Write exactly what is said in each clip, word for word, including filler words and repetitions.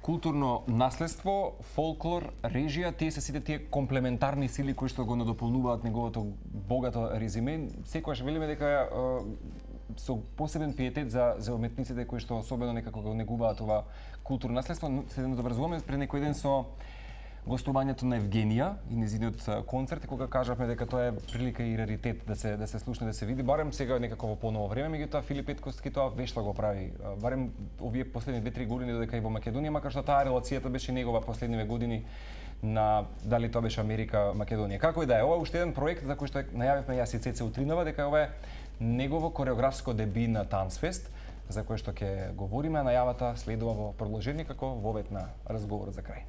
културно наследство, фолклор, режија, тие се сите тие комплементарни сили кои што го надополнуваат неговото богато резиме. Секогаш велиме дека со посебен пиетет за за уметниците кои што особено некако го негуваат ова културно наследство. Се добрзуваме пред некој ден со гостувањето на Евгенија и нејзиниот концерт, кога кажавме дека тоа е прилика и раритет да се да се слушне, да се види, барем сега некако во поново време, меѓутоа Филип Петковски тоа вешло го прави. Барем овие последни две-три години додека и во Македонија, макар што таа релацијата беше негова последниве години на дали тоа беше Америка, Македонија. Како и да е, ова е уште еден проект за кој што најавивме јас и Цеце утринава, дека ова е негово кореографско деби на Танцфест, за кој што ќе говориме, а најавата следува во продолжение како вовет на разговорот за крај.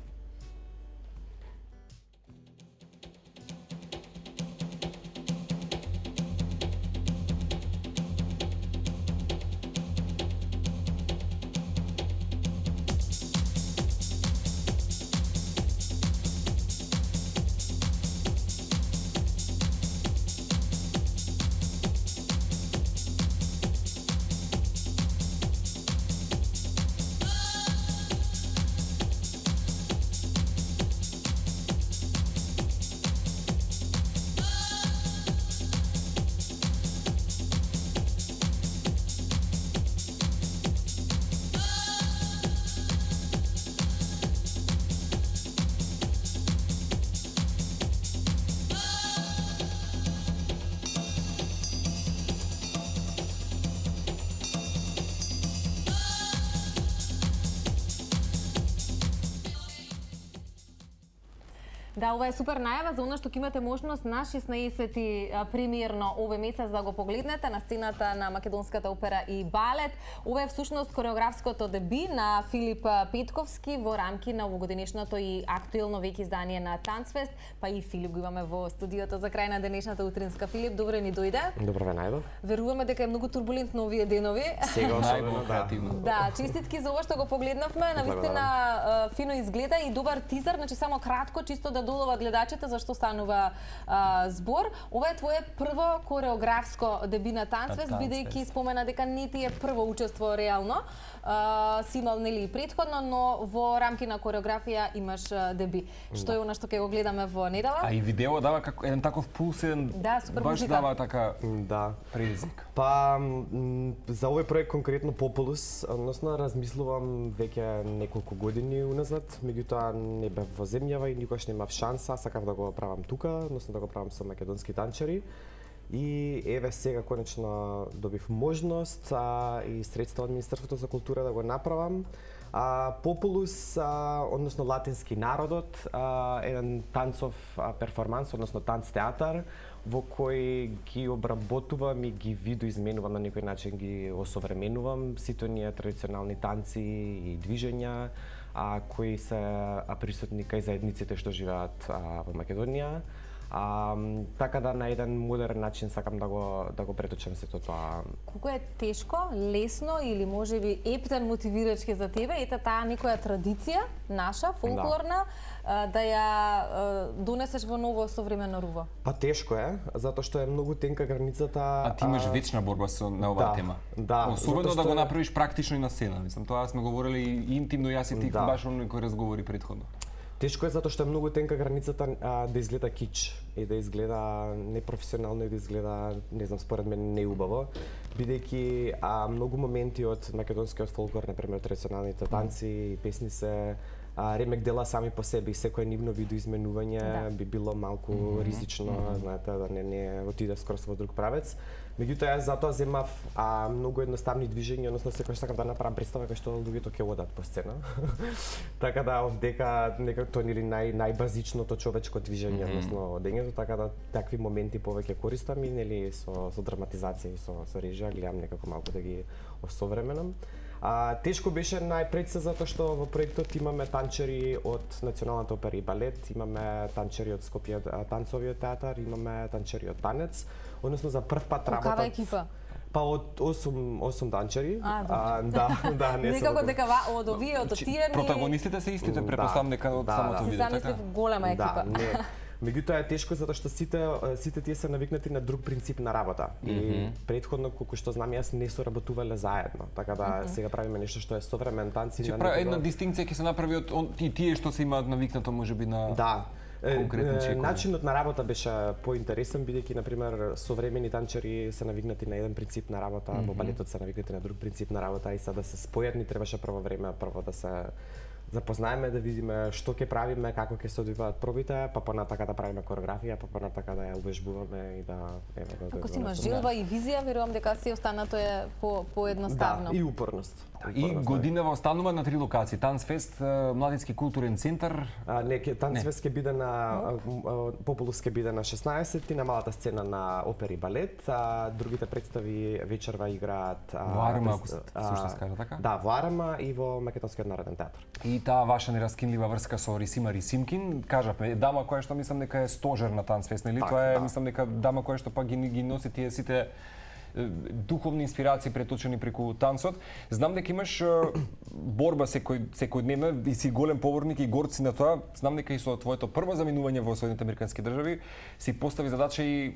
Да, ова е супер најава за она што ќе имате можност на шеснаесети премиерно овој месец да го погледнете на сцената на Македонската опера и балет. Ова е всушност кореографското деби на Филип Петковски во рамки на овогодишното и актуелно веќе издание на Танцфест. Па и Филип го имаме во студиото за крај на денешната утринска. Филип, добро ни дојде. Добро ве најдов. Веруваме дека е многу турбулентно овие денови. Сега особено креативно. Да, честитки за ова што го погледнавме, навистина фино изгледа и добар тизер, значи само кратко чисто да долова гледачите зашто станува а, збор. Ова е твое прво кореографско деби на Танцфест, бидејќи спомена дека не ти е прво учество реално. А, си имал нели претходно, но во рамки на кореографија имаш деби. Што е она што ќе го гледаме во недела? А и видео дава како еден таков пулсен, да, супер баш музика. дава така да предизвик. Па за овој проект конкретно Популус, односно размислувам веќе неколку години уназад, меѓутоа не бев во земјава и никош немав шанса, сакав да го правам тука, односно да го правам со македонски танчери. И еве сега конечно добив можност а, и средства од Министерството за култура да го направам. А, Популус, а, односно латински народот, а, еден танцов а, перформанс, односно танц театар, во кој ги обработувам и ги видоизменувам на некој начин, ги осовременувам сите оние традиционални танци и движења, а, кои се а, присутни кај заедниците што живеат а, во Македонија. А, така да на еден модерен начин сакам да го да го преточам сето тоа. Колку е тешко, лесно или можеби ептен мотивирачки за тебе ета таа некоја традиција наша фолклорна да, да ја донесеш во ново современо руво? Па тешко е, затоа што е многу тенка границата. А ти имаш вечна борба со на оваа да, тема. Да, особено што... да го направиш практично и на сцена. Мислам, тоа сме говорели и интимно јас и ти да. Баш оној кој разговори претходно. Тешко е затоа што е многу тенка границата а, да изгледа кич и да изгледа непрофесионално и да изгледа, не знам, според мен неубаво, бидејќи а, многу моменти од македонскиот фолклор, например традиционалните танци и песни се а, ремек дела сами по себе и секое нивно видоизменување да. Би било малку mm -hmm. ризично, mm -hmm. знаете, да не не отиде скроз во друг правец. Меѓутоа јас затоа земав а, многу едноставни движења, односно секој сакам да направам представа кај што луѓето ќе одат по сцена. Така да овдека некако тоа нели нај најбазичното човечко движење, mm -hmm. односно одењето, така да такви моменти повеќе користам и нели со со драматизација и со со режија гледам некако малку да ги осовременам. А, тешко беше најпред се затоа што во проектот имаме танчери од Националната опера и балет, имаме танчери од Скопје танцовиот театар, имаме танчери од танец, односно за прв пат работат. Каква екипа? Па од осум осум танчери. А, а да, да, не некако дека од овие од тие протагонистите се истите, претпоставам дека од да, самото да. видео, така. Замислив голема екипа. Да, не. Меѓутоа е тешко затоа што сите сите тие се навикнати на друг принцип на работа. И mm -hmm. претходно колку што знам јас не соработувале заедно. Така да mm -hmm. сега правиме нешто што е современ танци на некој... една дистинкција ќе се направи од он, и тие што се имаат навикнато можеби на да. конкретни чекови. Начинот на работа беше поинтересен бидејќи на пример современи танчери се навикнати на еден принцип на работа, mm -hmm. во балетот се навикнати на друг принцип на работа и сега да се спојат ни требаше прво време прво да се запознаеме, да видиме што ќе правиме, како ќе се одвиваат пробите, па понатака да правиме кореографија, па понатака да ја увежбуваме и да еве да Ако си имаш желба и визија, верувам дека си останато е по поедноставно. Да, и упорност. И годинава останува на три локации: Танцфест, Младински културен центар. А, не, Танцфест ќе биде на Популус ќе биде на шеснаесетти, на малата сцена на опера и балет, а другите представи вечерва играат во Арма, ако се слушна скажа така? Да, во Арма и во Македонскиот народен театар. И таа ваша нераскинлива врска со Рисима Рисимкин, кажавме, дама која што мислам дека е стожер на Танцфест, нели? Тоа е, да. Мислам дека дама која што пак ги, ги носи тие сите духовни инспирации преточени преку танцот. Знам дека имаш борба секој секојдневна и си голем поборник и горци на тоа. Знам дека и со твоето прво заминување во Соединетите американски држави си постави задача и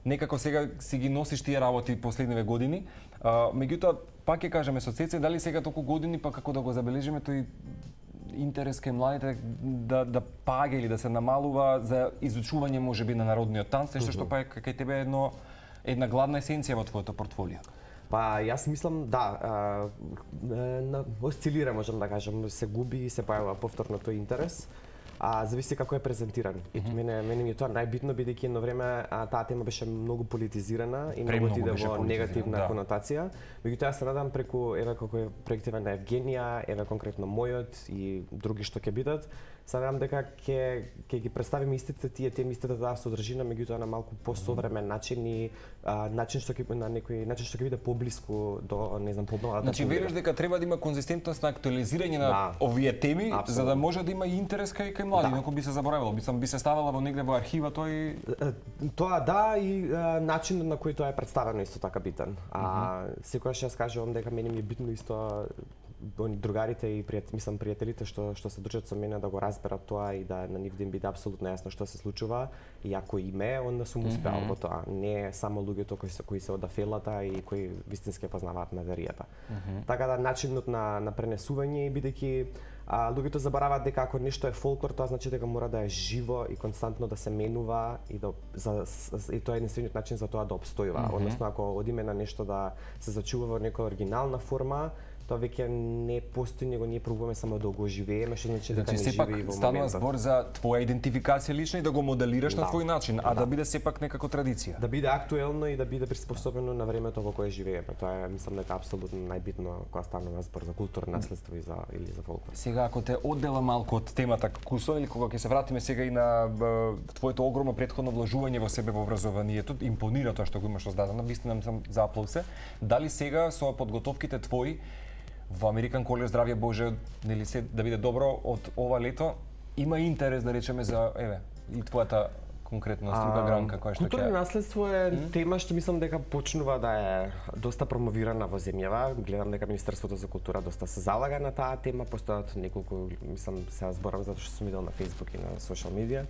некако сега си ги носиш тие работи последниве години. А, меѓутоа, пак ќе кажеме со Цеце, дали сега толку години, па како да го забележиме тој интерес кај младите да да паѓа или да се намалува за изучување можеби на народниот танц, нешто што па кај тебе е едно една гладна есенција во твоето портфолио? Па јас мислам да, а, на осцилира, можам да кажам, се губи и се појавува повторно тој интерес. А зависи како е презентиран. И mm -hmm. мене мене ми е тоа најбитно бидејќи едно време а, таа тема беше многу политизирана и многу отиде во негативна да. конотација. Меѓутоа јас се надам преку еве како е проектива на Евгенија, еве конкретно мојот и други што ќе бидат, се надам дека ќе ќе ги представиме истите тие теми, истата таа содржина, меѓутоа на малку посовремен начин и а, начин што ќе на некој начин што ќе биде поблиску до не знам помладата. Значи веруваш дека треба да има конзистентност на актуализирање на да. овие теми, Absolutely. за да може да има и интерес кај кај млади, да. Ако би се заборавило, би сам би се ставала во негде во архива тој тоа да и а, начинот на кој тоа е представено исто така битен. А mm -hmm. секогаш јас кажувам дека мене ми е битно исто другарите и пријат, мислам пријателите што што се дружат со мене да го разберат тоа и да на нив да им биде апсолутно јасно што се случува и ако и ме, онда сум успеал mm -hmm. во тоа. Не само луѓето кои се кои се од афелата и кои вистински познаваат материјата. Mm -hmm. Така да начинот на на пренесување бидејќи а, луѓето забораваат дека ако нешто е фолклор, тоа значи дека мора да е живо и константно да се менува и да за и тоа е единствениот начин за тоа да обстојува. Mm -hmm. Односно ако одиме на нешто да се зачува во некоја оригинална форма, тоа веќе не постои, него ние пробуваме само да го оживееме, што значи дека значи, не живее во моментот. Станува збор за твоја идентификација лична и да го моделираш да. на твој начин, а да. да биде сепак некако традиција. Да биде актуелно и да биде приспособено на времето во кое живееме. Тоа е, мислам дека апсолутно најбитно кога станува збор за културно наследство и за или за фолклор. Сега ако те оддела малку од темата Кусон или кога ќе се вратиме сега и на б, твоето огромно претходно вложување во себе во образованието, импонира тоа што го имаш создадено, вистина сам за аплаусе. Дали сега со подготовките твои во Американ колеж здравје Боже, нели се да биде добро од ова лето, има интерес да речеме за еве и твојата конкретна струга гранка која што ќе Културно наследство е mm? тема што мислам дека почнува да е доста промовирана во земјава. Гледам дека Министерството за култура доста се залага на таа тема, постојат неколку, мислам се зборам затоа што сум видел на Facebook и на социјал медија.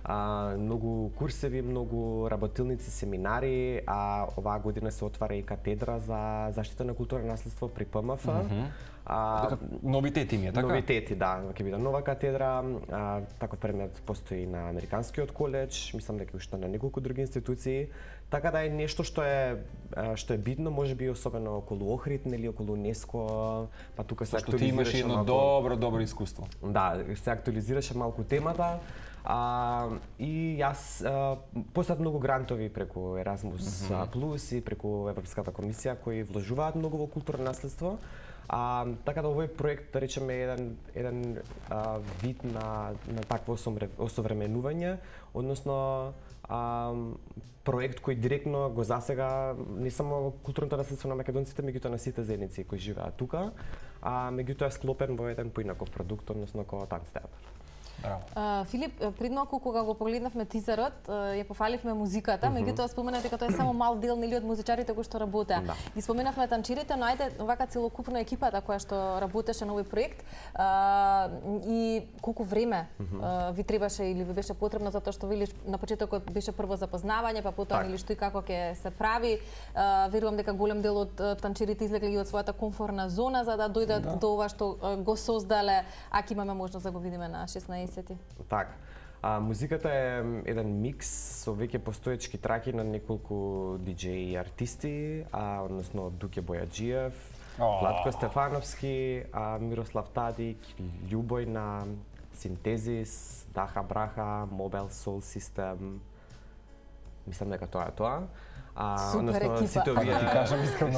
А, многу курсеви, многу работилници, семинари, а оваа година се отвара и катедра за заштита на културно наследство при П М Ф. Mm -hmm. А, новитети ми е, така? Новитети, да, ќе биде нова катедра, а, таков предмет постои на Американскиот коледж, мислам дека уште на неколку други институции, така да е нешто што е што е битно, можеби особено околу Охрид, нели околу УНЕСКО, па тука се актуализираше. Што ти имаш едно малку... добро, добро искуство. Да, се актуализираше малку темата. А, и јас постојат многу грантови преку Erasmus mm -hmm. Plus и преку Европската комисија кои вложуваат многу во културно наследство. А, така да овој проект, да речеме, еден еден а, вид на на такво осовременување, односно а, проект кој директно го засега не само културното наследство на македонците, меѓутоа на сите заедници кои живеат тука, а меѓутоа склопен во еден поинаков продукт, односно како танц театар. Uh, Филип, пред малку кога го погледнавме тизерот, uh, ја пофаливме музиката, mm-hmm. меѓутоа спомена дека тоа е само мал дел нели од музичарите кои што работеа. Да. И споменавме танчирите, но ајде вака целокупна екипата која што работеше на овој проект. Uh, и колку време mm-hmm. uh, ви требаше или ви беше потребно, затоа што велиш на почетокот беше прво запознавање, па потоа нели што и како ќе се прави. Uh, верувам дека голем дел од uh, танчирите излегле и од својата комфортна зона за да дојдат да. до ова што uh, го создале, ако имаме можност да го видиме на шеснаесетти. Така. А, музиката е еден микс со веќе постоечки траки на неколку диџеи и артисти, а, односно Дуке Бојаджиев, oh. Владко Стефановски, а, Мирослав Тадик, Љубојна, Синтезис, Даха Браха, Mobile Soul System. Мислам дека тоа е тоа. А, Супер екипа. Сите овие,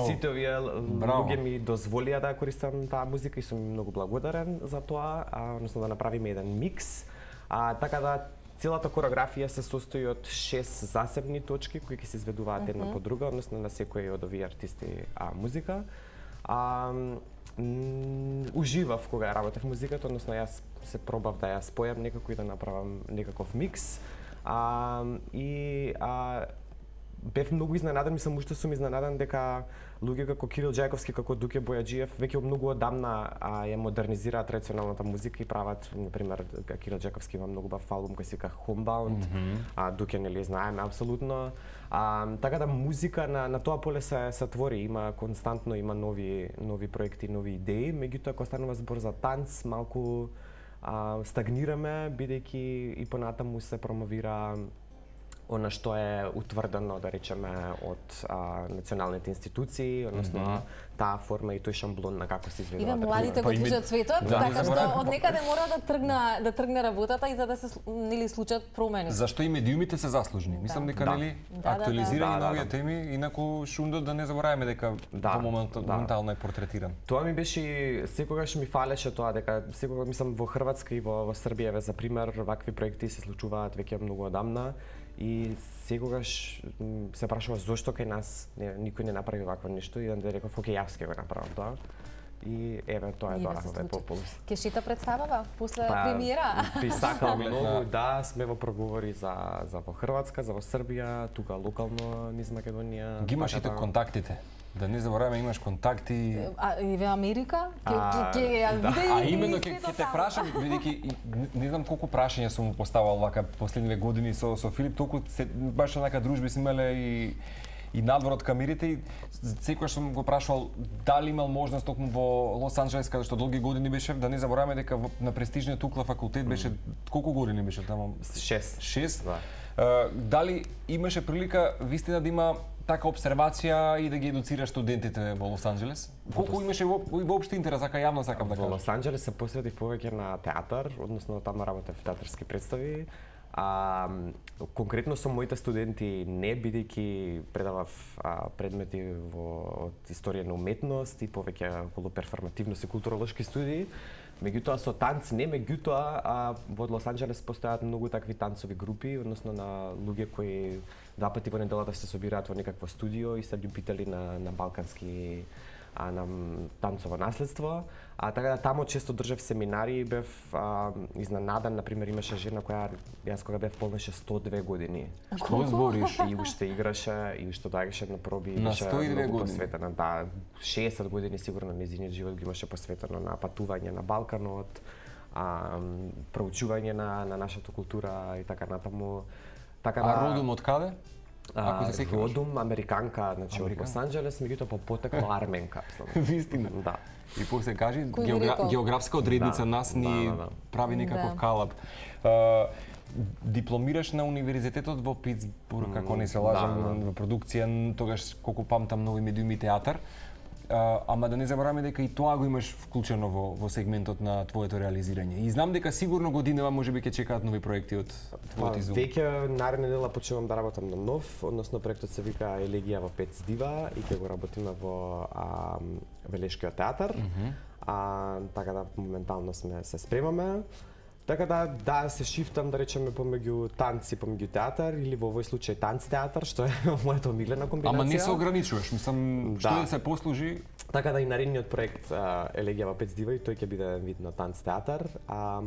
сите овие луѓе ми дозволија да користам таа музика и сум многу благодарен за тоа, а, односно да направиме еден микс. А, така да целата кореографија се состои од шест засебни точки кои ќе се изведуваат една mm -hmm. по друга, односно на секој од овие артисти а, музика. А, уживав кога работев музиката, односно јас се пробав да ја спојам некако и да направам некаков микс. А, и а, бев многу изненаден, мислам уште сум изненаден дека луѓе како Кирил Џајковски, како Дуке Бојаджиев веќе многу одамна а, ја модернизираат традиционалната музика и прават, например, Кирил Џајковски има многу бав албум кој се вика Homebound, mm -hmm. а Дуке нели знаеме апсолутно. А, така да музика на на тоа поле се се твори, има константно има нови нови проекти, нови идеи, меѓутоа кога станува збор за танц, малку а, стагнираме бидејќи и понатаму се промовира она што е утврдено, да речеме, од а, националните институции, односно mm -hmm. таа форма и тој шамблон на како се изведува. Иве младите го движат светот, да, така што од некаде мора да тргне да тргне работата и за да се нели случат промени. Зашто и медиумите се заслужни. Мислам дека да. нели да, актуализирање да, да, да, на овие да. теми, инаку шундот да не забораваме дека да, во моментот да. моментално е портретиран. Тоа ми беше секогаш ми фалеше тоа дека секогаш мислам во Хрватска и во, во Србија за пример вакви проекти се случуваат веќе многу одамна. И секогаш се прашува зошто кај нас не, никој не направи вакво нешто и да реков, окей, јас ќе го направам тоа. И еве тоа е тоа, овој Популс. Ке шита представава после па, премиера? Би сакал многу, да, сме во проговори за за во Хрватска, за во Србија, тука локално низ Македонија. Ги имаш и тоа контактите. Да не забораваме, имаш контакти. А и во Америка? Ке ке ја да, а именно ке те прашам, бидејќи не знам колку прашања сум му поставал вака последниве години со со Филип, толку се баш онака дружби сме имале и и надвор од камерите и секогаш сум го прашувал дали имал можност токму во Лос Анџелес каде што долги години беше, да не забораваме дека на престижниот Укла факултет беше колку години беше таму? шест. шест. Да. Uh, дали имаше прилика вистина да има така обсервација и да ги едуцира студентите во Лос Анџелес? Колку имаше во, воопшто интерес, ака јавно сакам да кажам? Во Лос Анџелес се посветив повеќе на театар, односно таму работев театарски представи. А, конкретно со моите студенти не, бидејќи предавав а, предмети во од историја на уметност и повеќе околу перформативност и културолошки студии. Меѓутоа со танц не, меѓутоа а, во Лос Анџелес постојат многу такви танцови групи, односно на луѓе кои два пати во неделата се собираат во некакво студио и се љубители на на балкански а, на танцово наследство. А така да таму често држав семинари и бев а, изненаден, например имаше жена која јас кога бев полнеше сто и две години. Што збориш? И уште играше и уште доаѓаше на проби и на беше сто и две многу години. посветена. Да, шеесет години сигурно нејзиниот живот ги имаше посветено на патување на Балканот, а, проучување на на нашата култура и така натаму. Така да, а родом од каде? Ако се сеќаваш. Родом американка, значи од Лос Анџелес, меѓутоа по потекло арменка. Вистина. Да. И после кажи геогра... географска одредница да, нас ни да, да, да. прави некаков да. калап. Uh, дипломираш на универзитетот во Питсбург, mm, ако не се лажам, да, да. Во продукција, тогаш колку памтам нови медиуми и театар. Uh, ама да не забораваме дека и тоа го имаш вклучено во, во сегментот на твоето реализирање. И знам дека сигурно годинава можеби ќе чекаат нови проекти од твојот изум. Веќе наредна недела почнувам да работам на нов, односно проектот се вика Елегија во пет здива и ќе го работиме во а, Велешкиот театар. Mm -hmm. А, така да моментално сме се спремаме. Така да, да се шифтам, да речеме, помеѓу танц и помеѓу театар, или во овој случај танц-театар, што е мојата омилена комбинација. Ама не се ограничуваш, мислам, да. што да се послужи. Така да и наредниот проект Елегија во пет здива и тој ќе биде вид на танц-театар. А,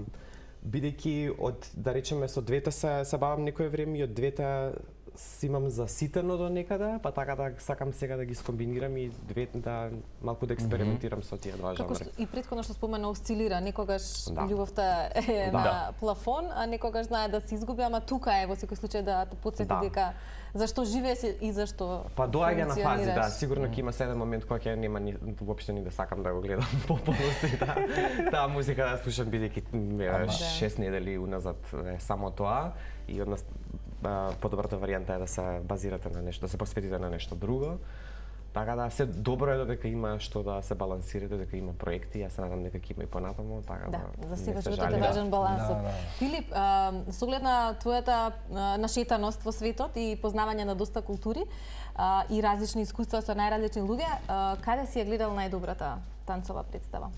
бидејќи од, да речеме, со двете се, се бавам некое време и од двете си имам заситено до некаде, па така да сакам сега да ги скомбинирам и двете да малку да експериментирам со тие два жанри. Како што и претходно што спомена осцилира, некогаш Да. љубовта е Да. на плафон, а некогаш знае да се изгуби, ама тука е во секој случај да те потсети Да. дека зашто живееш и зашто Па доаѓа на фази, да, функционираш. сигурно ќе има седен момент кога ќе нема ни воопшто ни да сакам да го гледам пополно се таа таа музика да слушам бидејќи шест недели уназад е само тоа и од нас а, подобрата варијанта е да се базирате на нешто, да се посветите на нешто друго. Така да се добро е додека има што да се балансира, додека има проекти, јас се надам дека ќе има и понатаму, така Да, да. за секој не се животот е жали. важен балансот. Да, да. Филип, а, со оглед на твојата а, нашетаност во светот и познавање на доста култури а, и различни искуства со најразлични луѓе, а, каде си ја гледал најдобрата танцова представа?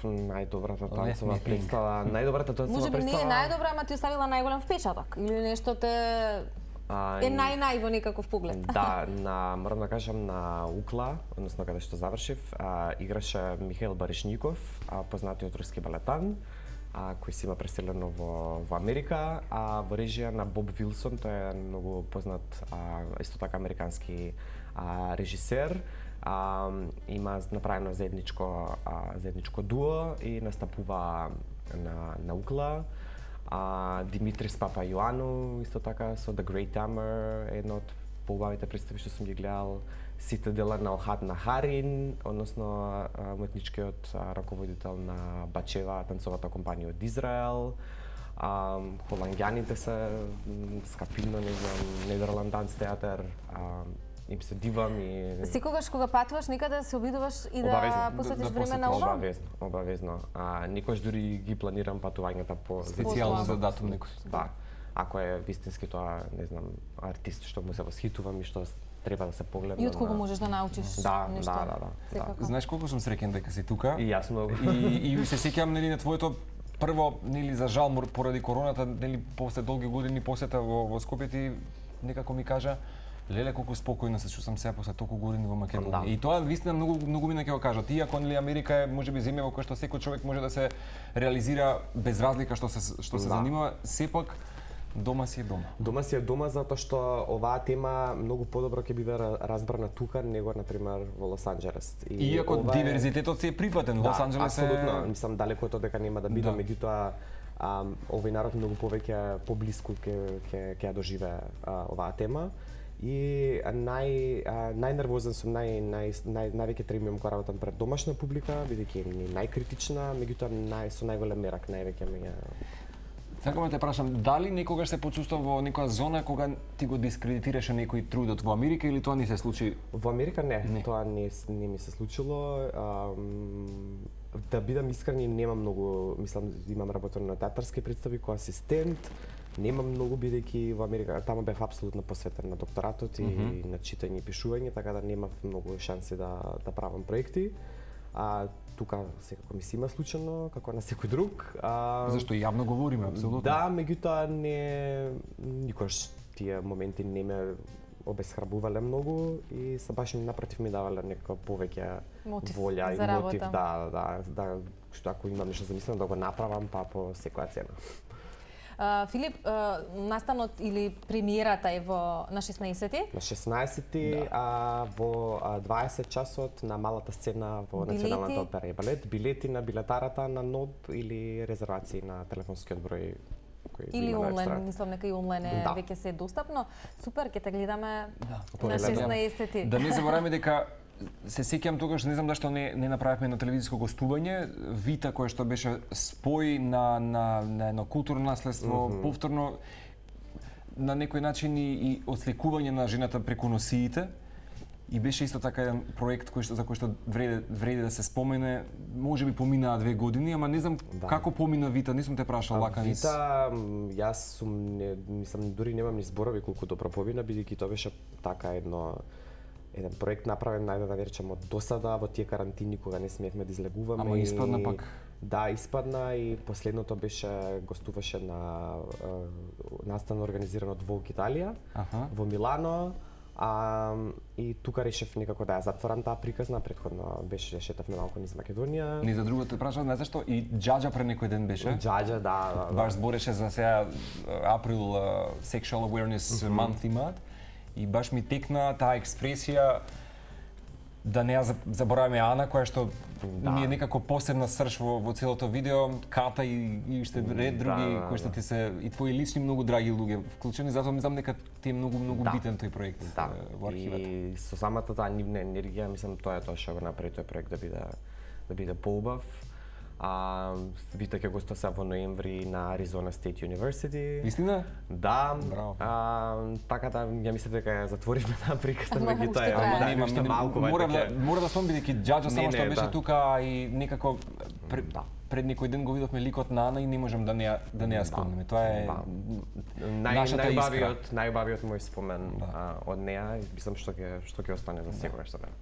Најдобрата Let танцова me think. представа, најдобрата танцова Може би не е представа. најдобра, ама ти оставила најголем впечаток или нешто те А, е нај-нај во некаков поглед. Да, на морам да кажам на Укла, односно каде што завршив, а, играше Михаил Баришников, а, познатиот руски балетан, а, кој си има преселено во, во Америка, а во режија на Боб Вилсон, тој е многу познат а, исто така американски а, режисер. А, има направено заедничко а, заедничко дуо и настапува на на Укла. А, Димитрис Папа Јоану, исто така со The Great Hammer, едно од поубавите представи што сум ги гледал. Сите дела на Охад на Харин, односно а, уметничкиот а, раководител на Бачева, танцовата компанија од Израел. А, холанѓаните се м, Скапино, не знам, Нидерланданс театар, а, им се дивам и Секогаш кога патуваш некаде се обидуваш и да Обавезно. посветиш Да- да време на посветиш. ова? обавезно, обавезно. А, никош дури ги планирам патувањата по Специјално за датум некој. Да. Ако е вистински тоа, не знам, артист што му се восхитувам и што треба да се погледне. И од кого на- можеш да научиш Да, нешто. да, да, да, Секако. Знаеш колку сум среќен дека си тука? И јас многу. И, и се сеќавам нели на твоето прво нели за жал мор- поради короната нели после долги години посета во во Скопје ти некако ми кажа леле колку спокојно се чувствам сега после толку години во Македонија. Да. И тоа вистина многу многу мина ќе го кажат. Иако нели Америка е можеби земја во која што секој човек може да се реализира без разлика што се што се Да. занимава, сепак дома си е дома. Дома си е дома затоа што оваа тема многу подобро ќе биде ра- разбрана тука него на пример во Лос Анџелес. И Иако ова е- диверзитетот се е припатен, Лос Анџелес е апсолутно, мислам далеко од тоа дека нема да биде, Да. меѓутоа а, овој народ многу повеќе поблиску ќе ќе ќе ја доживее а, оваа тема. И а, нај а, најнервозен сум, нај нај нај највеќе требам кога работам пред домашна публика, бидејќи ми е најкритична, меѓутоа нај со најголем мерак, највеќе ми е. Сакам да те прашам, дали некогаш се почувствува во некоја зона кога ти го дискредитираше некој трудот во Америка или тоа не се случи? Во Америка не, Не. тоа не не ми се случило. Ам, да бидам искрен, и нема многу, мислам, имам работено на театарски представи кој асистент, нема многу бидејќи во Америка таму бев апсолутно посветен на докторатот и Мгм. на читање и пишување, така да немав многу шанси да да правам проекти. А тука секако ми се има случано, како на секој друг. А, Зашто јавно говориме, апсолутно. Да, меѓутоа не никош тие моменти не ме обесхрабувале многу и се баш напротив ми давале нека повеќе Мотив волја и за мотив работа. да, да, да, што ако имам нешто замислено да го направам па по секоја цена. А, Филип, а, настанот или премиерата е во на шеснаесети? На шеснаесети, Да. а во а, дваесет часот на малата сцена во Билети? Националната опера и балет, билети на билетарата на НОБ или резервации на телефонскиот број кој го Или има на онлайн, веб-страница. мислам нека и онлайн е Да. веќе се достапно. Супер, ќе те гледаме Да, на погледаме. шеснаесети. Да не забораваме дека се сеќам тогаш, не знам зашто не не направивме на телевизиско гостување, Вита која што беше спој на на на едно културно наследство, mm -hmm. повторно на некој начин и, и отсликување на жената преку носиите. И беше исто така еден проект кој што за кој што вреди вреди да се спомене. Можеби поминаа две години, ама не знам Да. како помина Вита, не сум те прашал лака низ. Вита, м, јас сум, не, мислам, дури немам ни зборови колку добро помина, бидејќи тоа беше така едно еден проект направен, најде да речем од досада, во тие карантини кога не смеевме да излегуваме. Ама и- испадна пак. Да, испадна и последното беше, гостуваше на е, настан организиран од Волк Италија, Аха. во Милано. А, и тука решив некако да ја затворам таа приказна, претходно беше шетавме малку низ Македонија. Не за другото прашав, не зашто и Џаџа пред некој ден беше. Џаџа, да, да. Баш збореше за сега април uh, Sexual Awareness mm -hmm. Month имаат и баш ми текна таа експресија да не ја забораваме Ана, која што да. Ми е некако посебна срж во, во целото видео, Ката и, и уште ред други да, да, кои што ти се и твои лични многу драги луѓе вклучени, затоа мислам дека ти е многу многу да. Битен тој проект да. во архивата. И со самата таа нивна енергија, мислам тоа е тоа што го направи тој проект да биде да биде поубав. А вите ќе гостува се во ноември на Arizona State University. Вистина? Да. Браво. А, така да ја мислам дека ја затворивме таа приказна, меѓутоа е ама да, нема, нешто малку мора да мора да спомнам бидејќи Џаџа само што беше да. тука и некако пред, да. пред некој ден го видовме ликот на Ана и не можам да не ја, да не ја спомнеме. Тоа е да. Нај, нашата искра. Најубавиот, најубавиот мој спомен да. а, од неа, мислам што ќе што ќе остане за секогаш со мене.